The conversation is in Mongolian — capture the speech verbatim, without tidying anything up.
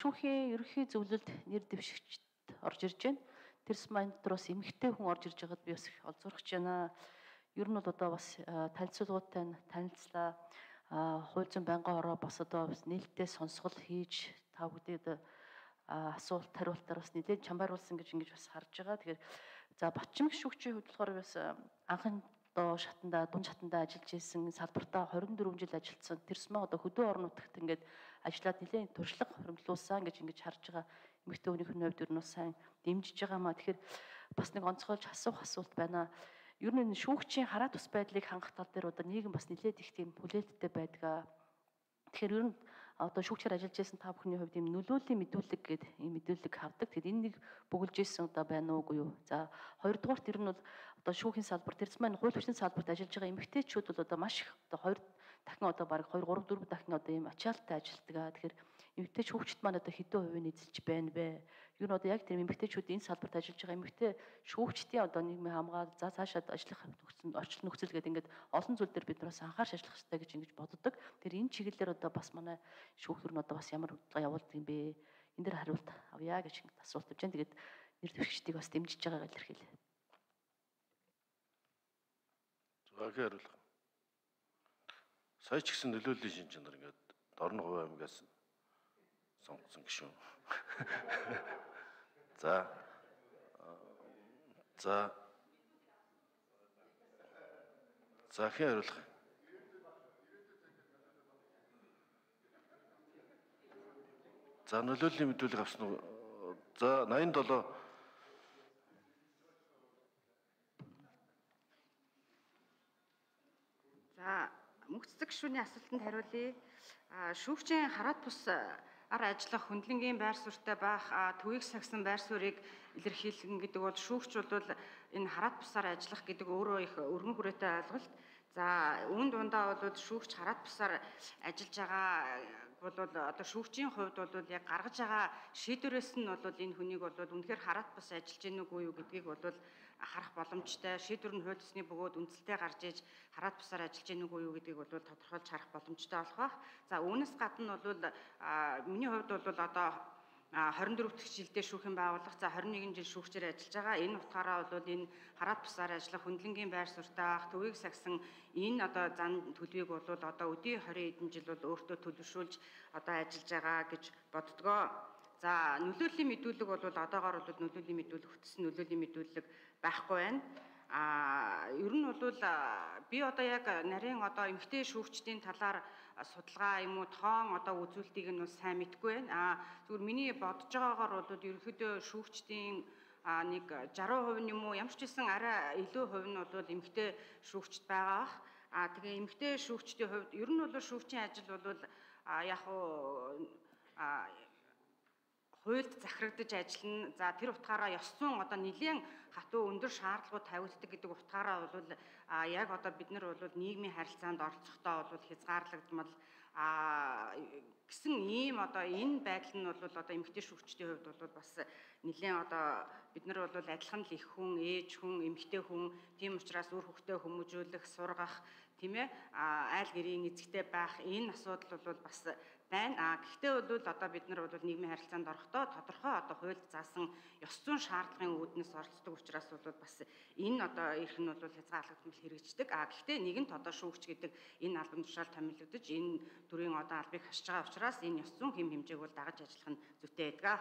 шүүхийн ерөнхий зөвлөлд нэр дэвшигчд орж ирж байна. Тэрс маань дотор бас эмэгтэй хүн орж ирж байгаад би бас их олзуурч байна. Ер нь бол одоо бас танилцуулгуудтай танилцлаа. Хууль зүйн байнгын ороо бас одоо бас нээлттэй сонсгол хийж та бүдээд асуулт хариултаар бас нэлээд чамбааруулсан гэж ингэж бас харж байгаа. Тэгэхээр за Батчимэг шүүгчийн хувьд болохоор бас анхан одоо шатанда дунд шатанда ажиллаж исэн салбартаа хорин дөрвөн жил ажилласан тэрсмээ одоо хөдөө орон нутагт ингээд ажиллаад нэлээд туршлага хуримлуулсан гэж ингэж харж байгаа. Эмэгтэй хүний хувьд ер нь сайн дэмжиж байгаа маа. Тэгэхээр бас нэг онцгойлж асуух асуулт байна. Ер нь шүүгчийн хараа тус байдлыг хангах тал дээр одоо нийгэм бас нэлээд их тийм хүлээлттэй байдаг. Тэгэхээр ер нь одоо шүүгчээр ажиллаж байсан та бүхний хувьд ийм нөлөөллийн мэдүүлэг гэдэг ийм мэдүүлэг хардаг. Тэгэхээр энэ нэг бөглөжсэн удаа байна уугүй юу? За хоёрдугаарт ер нь бол одоо шүүхийн салбар тэрс маань хууль хүчний салбарт ажиллаж байгаа эмэгтэйчүүд бол одоо маш их одоо хоёр дахин одоо бараг хоёр гурав дөрөв дахин одоо ийм ачаалттай ажилтдаг. Тэгэхээр эмэгтэй шүүгчд маань одоо хэдэн хувийн эзэлж байна вэ? Ер нь одоо яг тэр эмэгтэйчүүд энэ салбарт ажиллаж байгаа эмэгтэй шүүгчдийн одоо нийгмийн хамгаал за цаашаа ажиллах нөхцөл орчин нөхцөл гэдэг ингээд олон зүйл дээр бид нараас анхаарч ажиллах хэрэгтэй гэж ингэж боддог. Тэр энэ чиглэлээр одоо бас манай шүүхтэр нь одоо бас ямар бодлого явуулдаг юм бэ? Энэ дээр хариулт авъя гэж ингэж асуулт тавьж байна. Тэгээд нэр дэвшигчдийг бас дэмжиж байгаагаа илэрхийлье. Зөөгөө хариулах. Сая ч гэсэн нөлөөллийн шин чанар ингээд Дорн Хувь аймгаас сонгосон гişүн. За. За. За хэн хариулах. За нөлөөллийн мэдүүлэг авсан уу? За восемьдесят семь. За мөнх цэцэг гишүүний асуултанд хариулъя. Шүүгчийн хараат бус ар ажиллах хөндлөнгийн байр суурьтай байх төвийг сагсан байр суурийг илэрхийлэн гэдэг бол шүүгч бол энэ хараат бусаар ажиллах гэдэг өөрөө их өргөн хүрээтэй ойлголт. За үүн дундаа бол шүүгч хараат бусаар ажиллаж байгаа бол одоо шүүгчийн хувьд бол яг гаргаж байгаа шийдвэрээс нь бол энэ хүнийг бол үнэхээр хараат бус ажиллаж гэнэ үгүй юу гэдгийг бол харах боломжтой. Шийдвэр нь хууль ёсны бөгөөд үндсэлтэй гарч иж хараат бусаар ажиллаж гэнэ үгүй юу гэдгийг бол тодорхойлж харах боломжтой болох байх. За үүнээс гадна бол миний хувьд бол одоо хорин дөрөв дахь жилдээ шүүхийн байгууллага за хорин нэгэн жил шүүгчээр ажиллаж байгаа. Энэ утгаараа бол энэ хараат бусаар ажиллах хөндлөнгийн байр суурьтай байх төвийг сагсан энэ одоо зан төлөвийг бол одоо өдий хорин эдэн жил бол өөртөө төлөвшүүлж одоо ажиллаж байгаа гэж боддгоо. За нөлөөллийн мэдүүлэг бол одоогоор бол нөлөөллийн мэдүүлэг хөтсөн нөлөөллийн мэдүүлэг байхгүй байна. А ер нь бол би одоо яг нарийн одоо эмэгтэй шүүгчдийн талаар судалгаа юм уу тоон одоо үзүүлэлтийг нь сайн мэдгүй байна. А зүгээр миний бодож байгаагаар бол ерөнхийдөө шүүгчдийн нэг сixty percent юм уу ямар ч гэсэн арай илүү хувь нь бол эмэгтэй шүүгчд байгаа бах. А тэгээ эмэгтэй шүүгчдийн хувьд ер нь бол шүүгчийн ажил бол яг уу хуульд захирагдаж ажиллана. За тэр утгаараа ёс зүйн одоо нэлийн хатуу өндөр шаардлагууд тавигддаг гэдэг утгаараа бол яг одоо бид нар бол нийгмийн харилцаанд оролцохдоо бол хязгаарлагдмал гэсэн ийм одоо энэ байдал нь бол одоо эмэгтэй шүүгчдийн хувьд бол бас нэлийн одоо бид нар бол адилхан л их хүн, ээж хүн, эмэгтэй хүн тийм учраас үр хөвгтөө хүмүүжүүлэх, сургах тийм ээ айл гэрийн эзэгтэй байх энэ асуудал бол бас байна. А гэхдээ бол одоо бид нар бол нийгмийн харилцаанд орохдоо тодорхой одоо хуульд заасан ёс зүйн шаардлагын үүднээс оролцдог учраас бол бас энэ одоо эрх нь бол хязгаарлагдмал хэрэгждэг. А гэхдээ нэгэнт одоо шүүгч гэдэг энэ албан тушаал томилогдож энэ төрлийн одоо албыг хасж байгаа учраас энэ ёс зүйн хэм хэмжээг бол дагаж ажиллах нь зүйтэй байдаг.